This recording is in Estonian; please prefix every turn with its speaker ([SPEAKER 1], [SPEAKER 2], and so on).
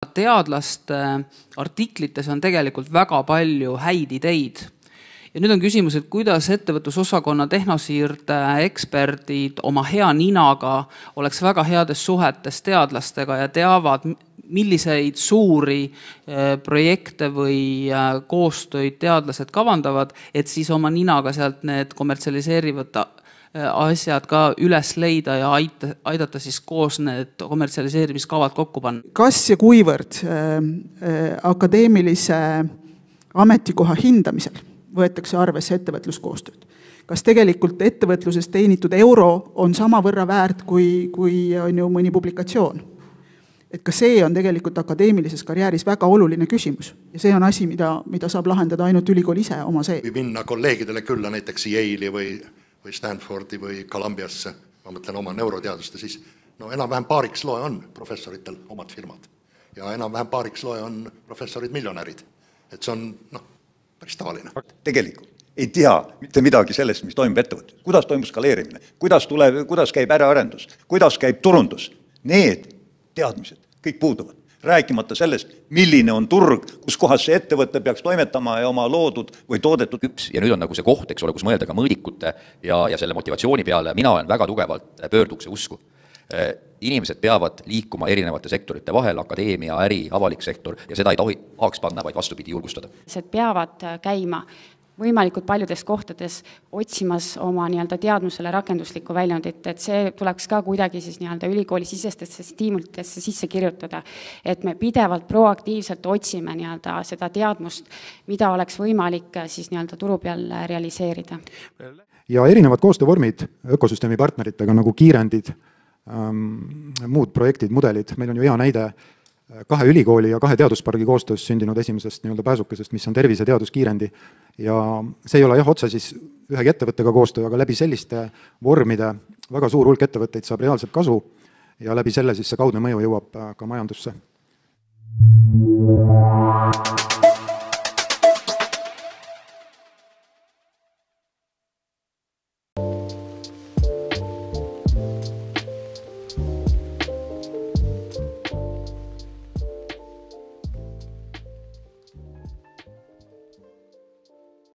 [SPEAKER 1] Teadlaste artiklites on tegelikult väga palju häid ideid. Ja nüüd on küsimus, et kuidas ettevõtlusosakonna tehnosiirde eksperdid oma hea ninaga oleks väga heades suhetes teadlastega ja teavad, milliseid suuri projekte või koostöid teadlased kavandavad, et siis oma ninaga sealt need kommertsialiseerivad asjad ka üles leida ja aidata siis koos need kommertsialiseerimiskavad kokku panna.
[SPEAKER 2] Kas ja kuivõrd akadeemilise ametikoha hindamisel võetakse arvesse ettevõtluskoostööd? Kas tegelikult ettevõtluses teenitud euro on sama võrra väärt kui on ju mõni publikatsioon? Et ka see on tegelikult akadeemilises karjääris väga oluline küsimus. Ja see on asi, mida saab lahendada ainult ülikool ise oma see.
[SPEAKER 3] Või minna kolleegidele külla näiteks Yale'i või Stanfordi või Columbiasse, ma mõtlen oma neuroteaduste, siis enam-vähem paariks loe on professoritel omad firmad. Ja enam-vähem paariks loe on professorid miljonärid. Et see on päris tavaline.
[SPEAKER 4] Tegelikult ei tea mitte midagi sellest, mis toimub ettevõttes. Kuidas toimub skaleerimine, kuidas käib äraarendus, kuidas käib turundus. Need teadmised kõik puuduvad. Rääkimata sellest, milline on turg, kus kohas see ettevõte peaks toimetama ja oma loodud või toodetud.
[SPEAKER 5] Ja nüüd on nagu see koht, eks ole, kus mõelda ka mõõdikute ja selle motivatsiooni peale. Mina olen väga tugevalt pöördukse usku. Inimesed peavad liikuma erinevate sektorite vahel, akadeemia, äri, avalik sektor, ja seda ei tahaks panna, vaid vastupidi julgustada.
[SPEAKER 6] Peavad käima võimalikult paljudes kohtades otsimas oma teadmusele rakenduslikku väljundit, et see tuleks ka kuidagi siis ülikooli sisestesse stiimulitesse sisse kirjutada, et me pidevalt proaktiivselt otsime seda teadmust, mida oleks võimalik siis turu peal realiseerida.
[SPEAKER 7] Ja erinevad koostöövormid ökosüsteemi partneritega nagu kiirendid, muud projektid, mudelid. Meil on ju hea näide 2 ülikooli ja 2 teaduspargi koostöös sündinud esimesest pääsukesest, mis on tervise teaduskiirendi. Ja see ei ole otse siis ühegi ettevõttega koostöö, aga läbi selliste vormide väga suur hulk ettevõtteid saab reaalselt kasu ja läbi selle siis see kaudne mõju jõuab ka majandusse.